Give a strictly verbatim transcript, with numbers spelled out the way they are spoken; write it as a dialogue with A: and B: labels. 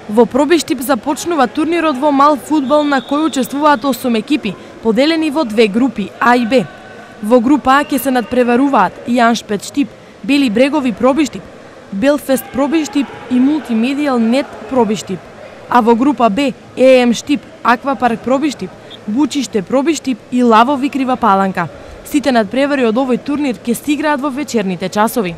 A: Во Пробиштип започнува турнирот во мал фудбал на кој учествуваат осум екипи, поделени во две групи А и Б. Во група А ќе се надпреваруваат Јаншпет Штип, Бели Брегови Пробиштип, Белфест Пробиштип и Мултимедијал Нет Пробиштип. А во група Б Е Ем Штип, Аквапарк Пробиштип, Бучиште Пробиштип и Лавови Крива Паланка. Сите надпревари од овој турнир ќе се играат во вечерните часови.